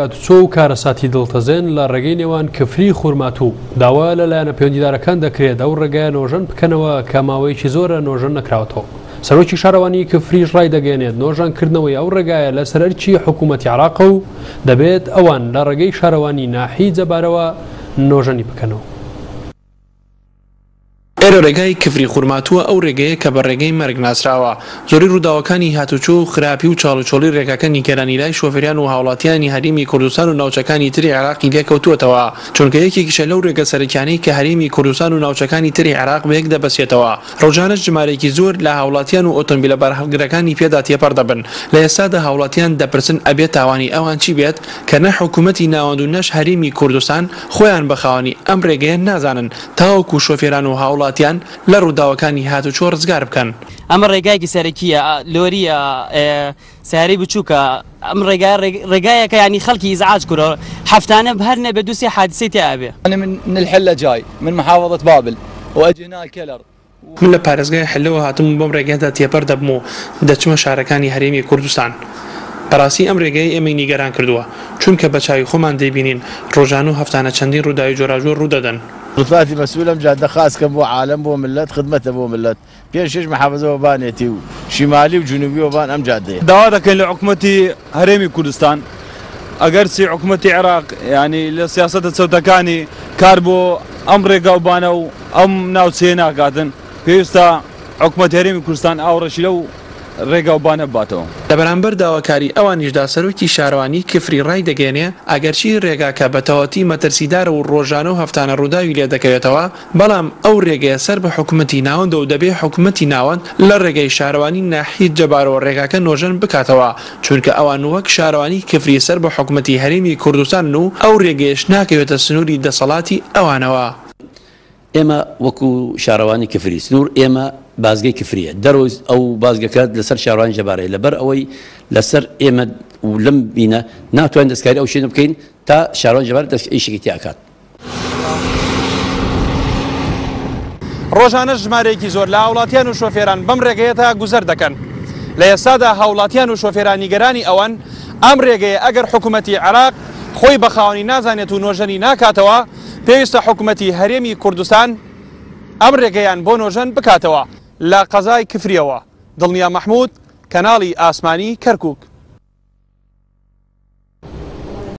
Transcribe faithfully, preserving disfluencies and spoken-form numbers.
هاتوچۆ و کارەساتی دڵتەزێن لە ڕێگەی نێوان کفری خورماتوو داوا لە لایەنە پەیوەندیدارەکان دەکرێت ئەو ڕێگایە نۆژەن بکەنەوە کە ماوەیەکی زۆرە نۆژەن نەکراوەتەوە. سەرۆکی شارەوانی کفریش ڕایدەگەیەنێت نۆژەنکردنەوەی ئەو ڕێگایە لەسەر ئەرکی حکوومەتی عێراقە و دەبێت ئەوان لە ڕێگەی شارەوانی ناحیەی جەبارەوە نۆژەنی بکەنەوە. ئێرە ڕێگای کفری خورماتووە، ئەو ڕێگەیە کە بە ڕێگەی مەرگ ناسراوە. زۆری ڕووداوەکانی هاتوچۆ و خراپی و چاڵوچۆڵی ڕێگاکە نیگەرانی لای شۆفێران و هاوڵاتیانی هەرێمی کوردستان و ناوچەکانی تری عێراقی لێکەوتووەتەوە، چونکە یەکێکیشە لەو ڕێگە سەرەکیانەی کە هەرێمی کوردستان و ناوچەکانی تری عێراق بەیەک دەبەسێتەوە. ڕۆژانەش ژمارەیەکی زۆر لە هاوڵاتیان و ئۆتۆمبیلە بارهەڵگرەکانی پێدا تێپەڕ دەبن. لە ئێستادا هاوڵاتیان دەپرسن ئەبێت تاوانی ئەوان چی بێت کە نە حکوومەتی ناوەند و نەش هەرێمی کوردستان خۆیان بە خاوەنی ئەم ڕێگەیە نازانن تاوەکو شۆفێران و هاوڵاتیان لە ڕووداوەکانی هاتوچۆ ڕزگار بکەن. ئەمە ڕێگایەکی سەرەکیە، لۆریە، سیارەی بچووکە. ئەم ڕێگای ڕێگایەکە ینی خەڵکی ئیزعاج کردووە، هەفتانە هەر نەبێت دوو سێ حادیسەی تیا ئەبێ. أنا من الحلة جاي من محافظة بابل وأجي هنا الكلر. من لە پارێزگای حلەوە هاتم و بەم ڕێگایدا تێپەر دەبم و دەچمە شارەکانی هەرێمی کوردستان. بەڕاستی ئەم ڕێگەی ئێمەی نیگەران کردووە، چونکە بە چاوی خۆمان دەیبینین ڕۆژان و هەفتانە چەندین ڕووداوی جۆراوجۆر ڕوودەدەن. سلطاتي مسؤولة جادة خاص كم بو عالم بو ملت خدمته بو ملت پێش محافظة وبانێتی و شمالی و جنوبی وبان ئەم جادەیە. داوا دەکەین لە حکوومەتی هەرێمی کوردستان، ئەگەرچی حکوومەتی عێراق ینی لە سیاسەتە چەوتەکانی کار بۆ ئەم ڕێگاوبانە و ئەم ناوچەیە ناکاتن، پێویستە حکوومەتی هەرێمی کوردستان ئاوڕەشی لەو ڕێگاوبانە بباتەوە. لە بەرامبەر داواکاری ئەوانیشدا سەرۆکی شارەوانی کفری ڕای دەگەیەنێ ئەگەرچی ڕێگاکە بە تەواوەتی مەترسیدارە و ڕۆژانە و هەفتانە ڕووداوی لێ دەکەوێتەوە، بەڵام ئەو ڕێگەیە سەر بە حکوومەتی ناوەندە و دەبێ حکوومەتی ناوەند لە ڕێگەی شارەوانی ناحیەی جەبارەوە ڕێگاکە نۆژەن بکاتەوە، چونکە ئەوان وەک شارەوانی کفری سەر بە حکوومەتی هەرێمی کوردستانن و ئەو ڕێگەیەش ناکەوێتە سنووری دەسەڵاتی ئەوانەوە. ئێمە وەکو شارەوانی کفری سنوور ئێمە بازگەی کفریە، دەرەوەی ئەو بازگەکە لەسەر شارەوانی جەبارەیە. لەبەر ئەوەی لەسەر ئێمە و لەم بینە ناتوانین دەستکاری ئەو شوێنە بکەین تا شارەوانی جەبار ئیشێکی تیا ئەکات. ڕۆژانە ژمارەیەکی زۆر لە هاوڵاتیان و شۆفێران بەم ڕێگەیە تا گوزەر دەکەن. لە ئێستادا هاوڵاتیان و شۆفێران نیگەرانی ئەوەن ئەم ڕێگەیە ئەگەر حکوومەتی عێراق خۆی بە خاوەنی نازانێت و نۆژەنی ناکاتەوە، پێویستە حکوومەتی هەرێمی کوردستان ئەم ڕێگەیان بۆ نۆژەن بکاتەوە. لە قەزای کفریەوە دڵنیا مەحموود، کەناڵی ئاسمانی کەرکووک.